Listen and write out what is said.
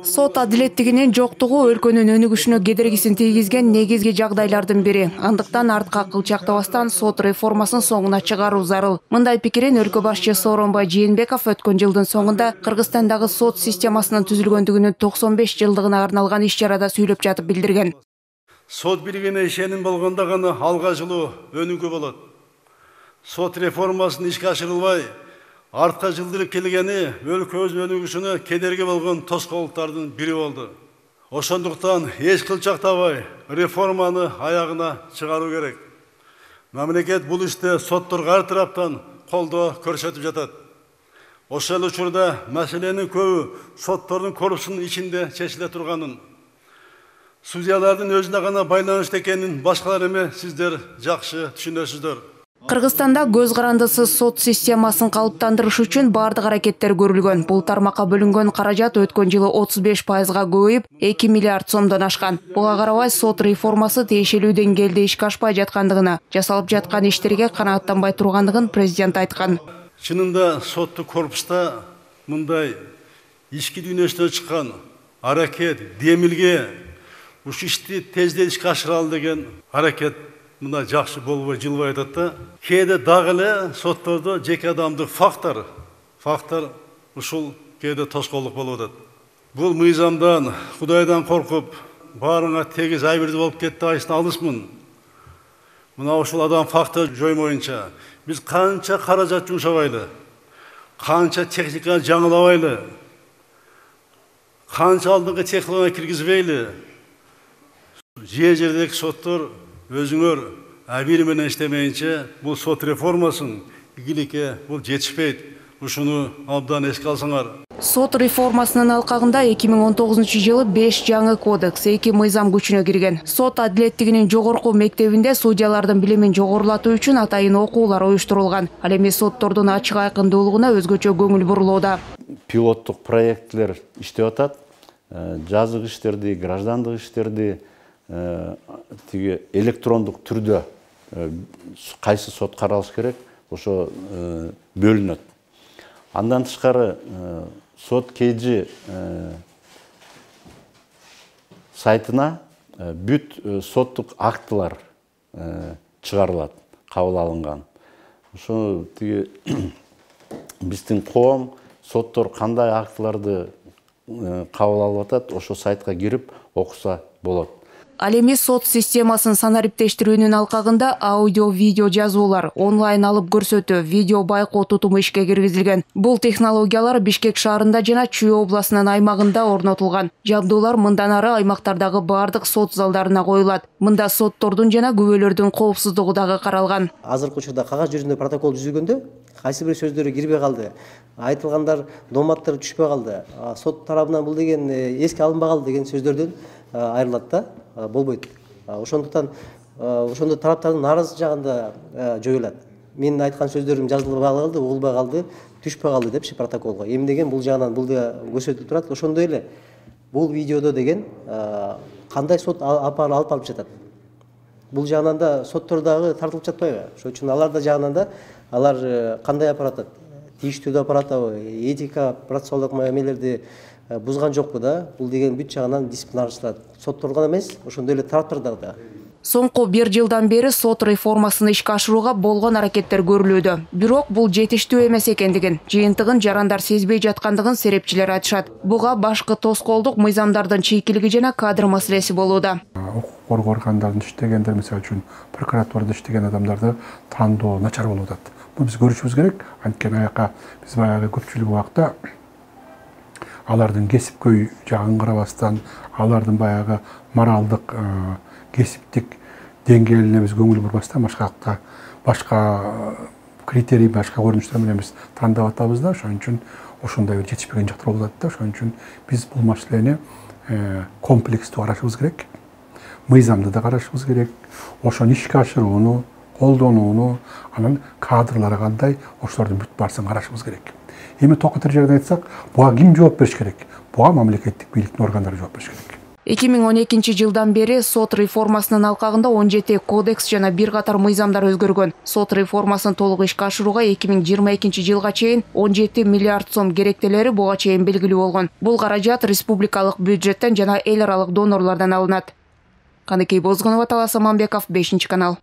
Сот адилеттигинин жоктугу өлкөнүн өнүгүшүнө кедергисин тийгизген негизги жагдайлардын бири. Андыктан артка кылчактабастан сот реформасын соңуна чыгаруу зарыл. Мындай пикирин өлкө башчысы Сооронбай Жээнбеков өткөн жылдын соңунда Кыргызстандагы сот системасынын түзүлгөндүгүнүн 95 жылдыгына арналган иш-чарада сүйлөп жатып билдирген. Сот бийлигине ишеним болгондо гана алга жылуу өнүгүү болот. Сот реформасынын ишке ашырылбай, артка жылдырып келгени өлкөбүздүн өнүгүшүнө кедерги болгон тоскоолдуктардын бири болду. Ошондуктан эч кылчактабай реформаны аягына чыгаруу керек. Мамлекет бул иште сотторго ар тараптан колдоо көрсөтүп жатат. Ошол учурда маселенин көбү соттордун корпусунун ичинде чечиле турганын, судьялардын өзүнө гана байланыштуу экенин башкалар эмес сиздер жакшы түшүнөсүздөр. Кыргызстанда көз карандысыз сот системасын калыптандырыш үчүн бардык аракеттер көрүлгөн. Бул тармакка бөлүнгөн каражат өткөн жылы 35%га көбөйүп, 2 миллиард сомдон ашкан. Буга карабай сот реформасы тиешелүү деңгээлде ишке ашпай жаткандыгына, жасалып жаткан иштерге канааттанбай тургандыгын президент айткан. Чынында соттук корпуста мындай ички дүйнөсүнөн чыккан аракет, демилге ушул ишти тездет ишке ашыралы деген аракет мына жакшы болбой жылбай атат да. Кээде дагы эле соттордо жеке адамдык фактор ушул кээде тоскоолдук болуп атат. Бул мыйзамдан, Кудайдан коркуп, баарыңа тегиз айбирдүү болуп кетти айсын алысмын. Мына ушул адам фактор жоймоюнча биз канча каражат жумшабайлы, канча техника жаңылабайлы, канча алдыңкы технология киргизбейли, жердеги соттор өзүңөр бир менен иштемейинче бул сот реформасын игиликке бул жетишпейт. Ушуну абдан эске алсаңар. Сот реформасынын алкагында 2019 жылы 5 жаңы кодекс, 2 мыйзам күчүнө кирген. Сот адилеттигинин жогорку мектебинде судьялардын билимин жогорулатуу үчүн атайын окуулар уюштурулган. Ал эми соттордун ачык айкындуулугуна өзгөчө көңүл бурулууда. Пилоттук проектлер иштеп атат. Жазык иштерди, граждандык иштерди тиги электрондук түрдө кайсы сот каралыш керек, ошо бөлүнөт. Андан тышкары сот KG сайтына бүт соттук актылар чыгарылат, кабыл алынган. Ошо тиги биздин коом соттор кандай актыларды кабыл алып атат, ошо сайтка кирип окуса болот. Ал эми сот системасын санариптештирүүнүн алкагында аудио-видео жазуулар, онлайн алып көрсөтүү, видео байкоо тутуму ишке киргизилген. Бул технологиялар Бишкек шаарында жана Чүй областынын аймагында орнотулган. Жабдуулар мындан ары аймактардагы бардык сот залдарына коюлат. Мында соттордун жана күбөлөрдүн коопсуздугу дагы каралган. Азыркы учурда кагаз жүзүндө протокол түзүлгөндө кайсы бир сөздөрү кирбей калды, айтылгандар доматтар түшпөй калды, сот тарабынан бул деген эске алынбай калды деген сөздөрдөн айрылат да, болбойт. Ошондуктан ошондо тараптардын нааразы жагында жоюлат. Менин айткан сөздөрүм жазылбай калды, угулбай калды, түшпөй калды депчи протоколго. Эмнеген бул жагынан бул да көрсөтүлүп турат. Ошондой эле бул видеодо деген кандай сот алып барып жатат. Бул жагынан да соттор дагы тартылып жатпайбы? Ошон үчүн алар да жагынан да алар кандай апаратат? Тийиштүү апаратабы? Этика, процессуалдык мамилелерди бузган жокпу да? Бул деген бүт жагынан дисциплинарчылар сотторго эмес, ошондой эле тараптарда да. Соңку 1 жылдан бери сот реформасын ишке ашырууга болгон аракеттер көрүлүүдө. Бирок бул жетиштүү эмес экендигин, жыйынтыгын жарандар сезбей жаткандыгын серепчилер айтышат. Буга башкы тоскоолдук мыйзамдардын чийкилиги жана кадр маселеси болууда. Укук коргоо органдарында иштегендер, мисалы үчүн прокуратурада иштеген адамдарды тандоо начар болуп атат. Муну биз көрүшүбүз керек. Анткени аяка биз баягы көпчүлүк убакта алардын кесипкөй жагын карабастан, алардын баягы моралдык, кесиптик деңгээлине биз көңүл бурбастан башка критерий, башка көрүнүштөр менен биз тандап атабыз да. Ошон үчүн ошондой бир жетишпеген жактар болуп атат да. Ошон үчүн биз бул маселени комплекстүү карашыбыз керек. Мыйзамды да карашыбыз керек. Ошону ишке ашырууну, колдонууну, анан кадрлары кандай, ошолордун бүт баарысын карашыбыз керек. Эми токотор жерден айтсак, буга ким жооп бериш керек? Буга мамлекеттик бийликтин органдары жооп бериш керек. 2012 жылдан бери сот реформасынын алкагында 17 кодекс жана бир катар мыйзамдар өзгөргөн. Сот реформасын толук ишке ашырууга 2022 жылга чейин 17 миллиард сом керектелери буга чейин белгилүү болгон. Бул каражат республикалык бюджеттен жана эл аралык донорлордон алынат. Каныкей Бозгунова, Талас Аманбеков, 5 канал.